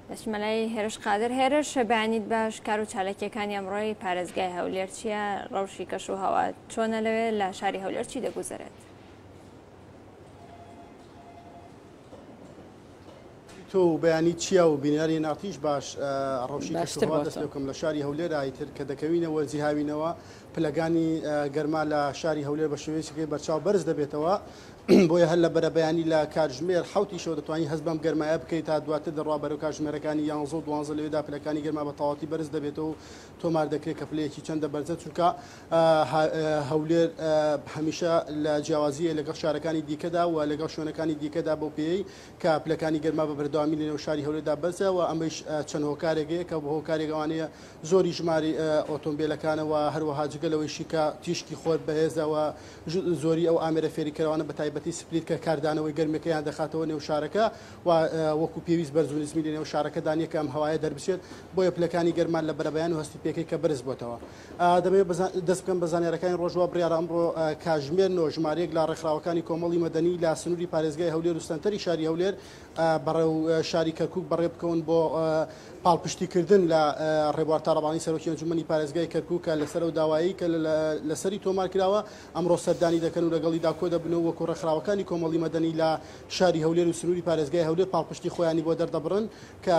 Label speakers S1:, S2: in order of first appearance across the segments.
S1: دەچمە لای هێرش قادر. هێرش بەیانیت باش، کار و چالاکییەکانی ئەمڕۆی پارێزگای هەولێر چییە؟ ڕەوشی کەش و هەوا چۆنە لەوێ؟ لە شاری هەولێر چی دەگوزەرێت؟
S2: تۆ و بەیانی چیا و بینەرانی ناتیش باش ڕەوشی کەشوهەوا دەست پێ بکەم لە شاری هەولێر ئایتر کە دەکەوینە وەرزی هاوینەوە پلەکانی گەرما لە شاری هەولێر بە شێوەیەکی بەرچاو بەرز دەبێتەوە بۆیە هەر لە بەرەبەیانی لە کاتژمێر حەوتی شەو دەتوانی هەست بەم گەرمایە بکەیت تا دواتر دەڕوا بەرەو کاتژمێرەکانی یانزە و دوانزە لەوێدا پلەکانی گەرما بە تەواوەتی بەرز دەبێتەوە و تۆمار دەکرێت کە پلەیەکی چەندە بەرزە چونکە هەولێر هەمیشە لە جیاوازیە لەگەڵ شارەکانی دیکەدا و لەگەڵ شوێنەکانی دیکەدا بەو پێیەی کە پلەکانی گەرما بە بەردەوامی لەنێو شاری هەولێردا بەرزە و ئەمەیش چەند هۆکارێک هەیە کە بە هۆکارێک ئەوانەیە زۆری ژماری ئۆتۆمبیلەکانە و هەروەها جگە لەوەیشی کە تیشکی خۆر بەهێزە و زۆری ئەو ئامێرە فێنککەرەوانە بە تایبەتی سپلیت کە کاردانەوەی گەرمیەکەیان دەخاتەوە نێو شارەکە و وەکو پێویست بەرز و نزمی لەنێو شارەکەدا نییە کە ئەم هەوایە دەربچێت بۆیە پلەکانی گەرما لە بەرەبەیان و هەستی پێکەی کە بەرز بۆتەوە. دەمەوێت دەست بکەم بە زانیارەکانی ڕۆژ وا بڕیارە ئەمڕۆ کاژمێر نۆ ژمارەیەک لە ڕێکخراوەکانی کۆمەڵی مەدەنی لە سنووری پارێزگای هەولێر و سەنتەری شاری هەولێر بەڕێو شاری کەرکووک بەڕێ بکەون بۆ پاڵپشتیکردن لە ڕێبوار تاڵەبانی سەرۆکی ئەنجومەنی پارێزگای کەرکووک کە لەسەر ئەو داوایەی کە لەسەری تۆمار کراوە ئەمڕۆ سەردانی دەکەن و لەگەڵیدا کۆدەبنەوە وەکو ڕێکخراوەکانی کۆمەڵی مەدەنی لە شاری هەولێر و سنووری پارێزگای هەولێر پاڵپشتی خۆیانی بۆ دەردەبڕن کە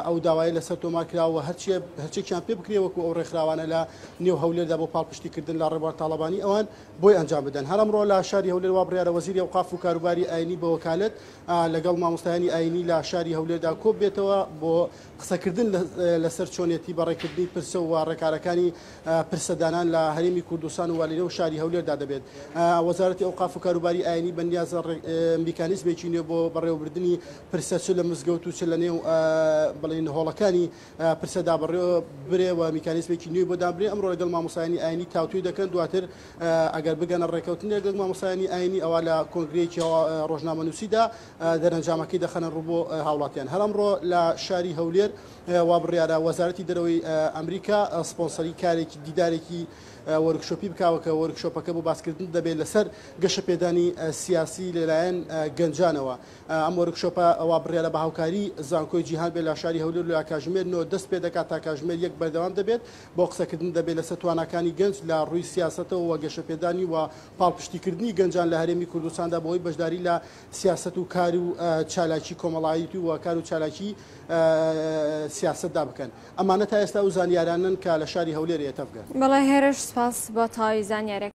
S2: ئەو داوایە لەسەر تۆمار کراوە و هەرچیەکیان پێ بکرێ وەکو ئەو ڕێکخراوانە لە نێو هەولێردا بۆ پاڵپشتیکردن لە ڕێبوار تاڵەبانی ئەوان بۆی ئەنجام بدەن. هەر ئەمڕۆ لە شاری هەولێر وا بڕیارە وەزیری ئەوقاف و کاروباری ئاینی بە وەکالەت لەگەڵ مامۆستایانی ئاینی لە شاری هەولێردا کۆببێتەوە بۆ قسەکردن لەسەر چۆنێتی بەڕێکردنی پرسە و ڕێکارەکانی پرسەدانان لە هەرێمی کوردستان و لەنێو شاری هەولێردا دەبێت. وەزارەتی ئەوقاف و کاروباری ئاینی بە نیازە میکانیزمێکی نوێ بۆ بەڕێوەبردنی پرسە چ لە مزگەوت و چ لە نێو بڵێن هۆڵەکانی پرسەدا بەڕێوە برێ و میکانیزمێکی نوێی بۆ دابنرێ. ئەمڕۆ لەگەڵ مامۆستایانی ئاینی تاوتوێ دەکەن، دواتر ئەگەر بگەنە ڕێککەوتن لەگەڵ مامۆستایانی ئاینی ئەوا لە کۆنگرەیەکی ڕۆژنامەنووسیدا دەرەنجامەکەی دەخەنە ڕوو بۆ هاوڵاتیان. هەر ئەمڕۆ لە شاری هەولێر وا بڕیارە وەزارەتی دەرەوەی ئەمریکا سپۆنسەری کارێکی دیدارێکی وۆرکشۆپی بکاوە کە وۆرکشۆپەکە بۆ باسکردن دەبێت لەسەر گەشەپێدانی سیاسی لەلایەن گەنجانەوە. ئەم وۆرکشۆپە وا بڕیارە بە هاوکاری زانکۆی جیهان بێت لە شاری هەولێر لە کاژمێر نۆ دەست پێدەکات تا کاژمێر یەک بەردەوام دەبێت بۆ قسەکردن دەبێت لەسەر تواناکانی گەنج لە ڕووی سیاسەتەوە و گەشەپێدانی و پاڵپشتیکردنی گەنجان لە هەرێمی کوردستاندا بۆ ئەوەی بەشداری لە سیاسەت و کار و چالاکی کۆمەڵایەتی و کار و چالاکی سیاسەتدا بکەن. ئەمانە تا ئێستا ئەو زانیارانەن کە لە شاری هەولێر هەیە. تەڤگەر.
S1: بەڵێ هێرش سپاس بۆ تەواوی زانیارەکانت.